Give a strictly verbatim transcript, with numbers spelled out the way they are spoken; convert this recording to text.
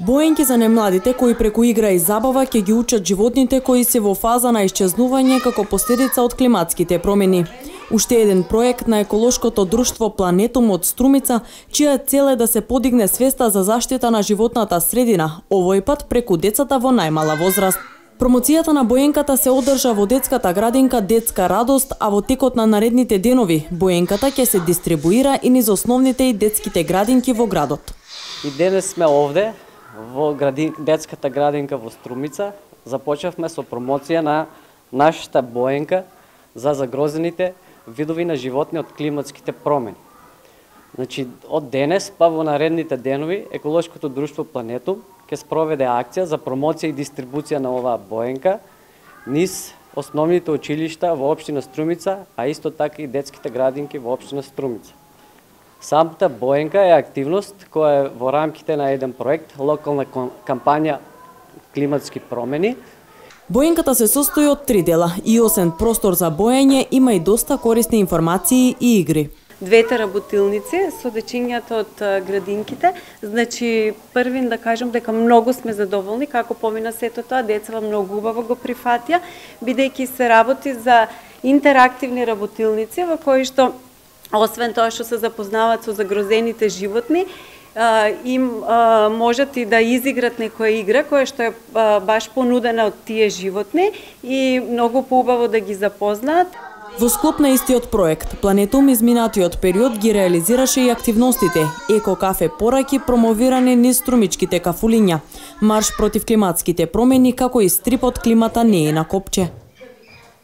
Боенки за немладите кои преку игра и забава ќе ги учат животните кои се во фаза на исчезнување како последица од климатските промени. Уште еден проект на еколошкото друштво Планетум од Струмица, чија цел е да се подигне свеста за заштита на животната средина, овој пат преку децата во најмала возраст. Промоцијата на боенката се одржа во детската градинка Детска радост, а во текот на наредните денови боенката ќе се дистрибуира и низ основните и детските градинки во градот. И денес сме овде во градин, детската градинка во Струмица. Започнавме со промоција на нашата боенка за загрозените видови на животни од климатските промени. Значи, од денес па во наредните денови еколошкото друштво Планетум ќе спроведе акција за промоција и дистрибуција на оваа боенка низ основните училишта во општина Струмица, а исто така и детските градинки во општина Струмица. Самата боенка е активност која е во рамките на еден проект, локална кампања климатски промени. Боенката се состои од три дела и освен простор за боење има и доста корисни информации и игри. Двете работилници со дечињата од градинките, значи првин да кажам дека многу сме задоволни како помина сето тоа, децава многу убаво го прифатија, бидејќи се работи за интерактивни работилници во кои што освен тоа што се запознаваат со загрозените животни, им можат и да изиграт некоја игра која што е баш понудена од тие животни и многу поубаво да ги запознаат. Во склоп на истиот проект, Планетум изминатиот период ги реализираше и активностите Еко кафе пораки промовирани низ струмичките кафулиња, марш против климатските промени, како и стрипот Климата не е на копче.